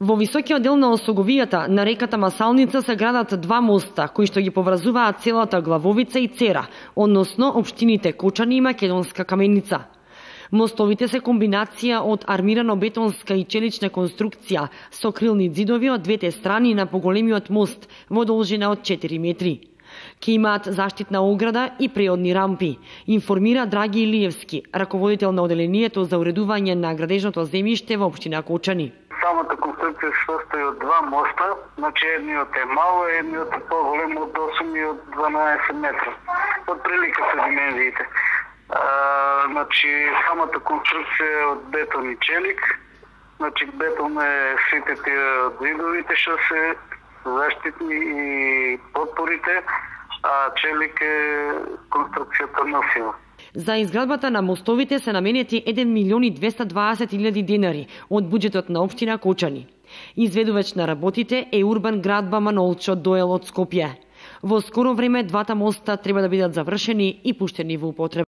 Во високиот дел на осоговијата на реката Масалница се градат два моста, кои што ги поврзуваат целата Главовица и Цера, односно општините Кочани и Македонска Каменица. Мостовите се комбинација од армирано-бетонска и челична конструкција со крилни ѕидови од двете страни на поголемиот мост во должина од 4 метри. Ке имаат заштитна ограда и преодни рампи, информира Драги Илиевски, раководител на оделението за уредување на градежното земјиште во општина Кочани. Самата конструкција се состои од два моста, значи едниот е мал, едниот е поголем од 8 и од 12 метра. Од прилика се димензиите. Значи самата конструкција е од бетон и челик. Значи бетон е сите тие ѕидовите што се заштитни и подпорите, а челик е конструкцијата носива. За изградбата на мостовите се наменети 1.220.000 денари од буџетот на општина Кочани. Изведувач на работите е Урбан Градба Манолчо Доел од Скопје. Во скоро време двата моста треба да бидат завршени и пуштени во употреба.